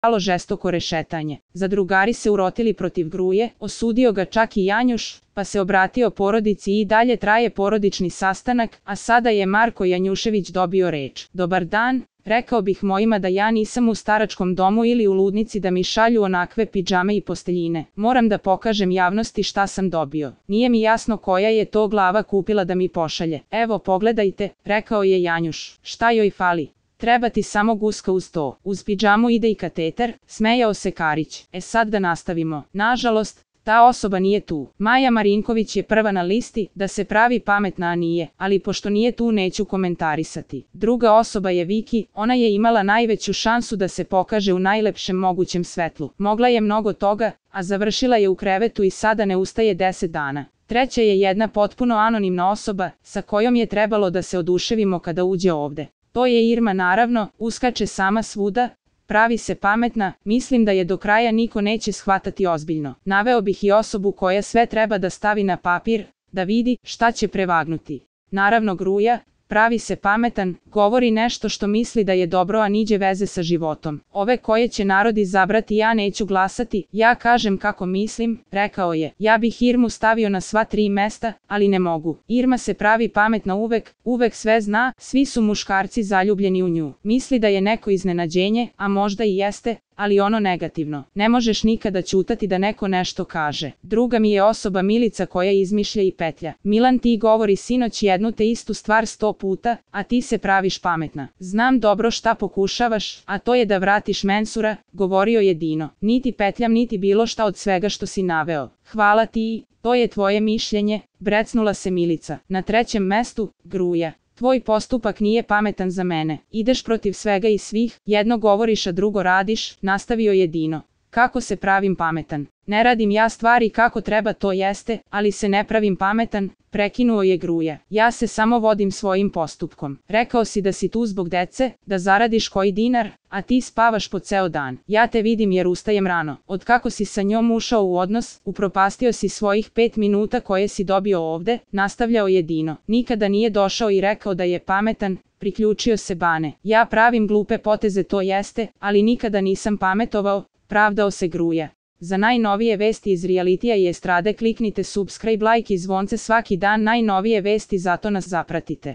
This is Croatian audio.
Alo žestoko rešetanje. Zadrugari se urotili protiv Gruje, osudio ga čak i Janjuš, pa se obratio porodici i dalje traje porodični sastanak, a sada je Marko Janjušević dobio reč. Dobar dan, rekao bih mojima da ja nisam u staračkom domu ili u ludnici da mi šalju onakve pidžame i posteljine. Moram da pokažem javnosti šta sam dobio. Nije mi jasno koja je to glava kupila da mi pošalje. Evo pogledajte, rekao je Janjuš. Šta joj fali? Treba ti samo guska uz to. Uz pidžamu ide i kateter, smejao se Karić. Sad da nastavimo. Nažalost, ta osoba nije tu. Maja Marinković je prva na listi, da se pravi pametna, a nije, ali pošto nije tu neću komentarisati. Druga osoba je Viki, ona je imala najveću šansu da se pokaže u najlepšem mogućem svetlu. Mogla je mnogo toga, a završila je u krevetu i sada ne ustaje 10 dana. Treća je jedna potpuno anonimna osoba, sa kojom je trebalo da se oduševimo kada uđe ovde. To je Irma naravno, uskače sama svuda, pravi se pametna, mislim da je do kraja niko neće shvatati ozbiljno. Naveo bih i osobu koja sve treba da stavi na papir, da vidi šta će prevagnuti. Naravno Gruja, pravi se pametan, govori nešto što misli da je dobro, a niđe veze sa životom. Ove koje će narod izabrati ja neću glasati, ja kažem kako mislim, rekao je. Ja bih Irmu stavio na sva 3 mesta, ali ne mogu. Irma se pravi pametna uvek sve zna, svi su muškarci zaljubljeni u nju. Misli da je neko iznenađenje, a možda i jeste, ali ono negativno. Ne možeš nikada ćutati da neko nešto kaže. Druga mi je osoba Milica koja izmišlja i petlja. Milan, ti govori sinoć jednu te istu stvar 100 puta, a ti se praviš pametna. Znam dobro šta pokušavaš, a to je da vratiš Mensura, govorio je Dino. Niti petljam niti bilo šta od svega što si naveo. Hvala ti, to je tvoje mišljenje, brecnula se Milica. Na 3. mestu, Gruja. Tvoj postupak nije pametan za mene. Ideš protiv svega i svih, jedno govoriš a drugo radiš, nastavio je Dino. Kako se pravim pametan? Ne radim ja stvari kako treba, to jeste, ali se ne pravim pametan, prekinuo je Gruja. Ja se samo vodim svojim postupkom. Rekao si da si tu zbog dece, da zaradiš koji dinar, a ti spavaš po ceo dan. Ja te vidim jer ustajem rano. Od kako si sa njom ušao u odnos, upropastio si svojih 5 minuta koje si dobio ovde, nastavljao je Dino. Nikada nije došao i rekao da je pametan, priključio se Bane. Ja pravim glupe poteze, to jeste, ali nikada nisam pametovao, pravdao se Gruja. Za najnovije vesti iz realitija i estrade kliknite subscribe, like i zvonce svaki dan, najnovije vesti, zato nas zapratite.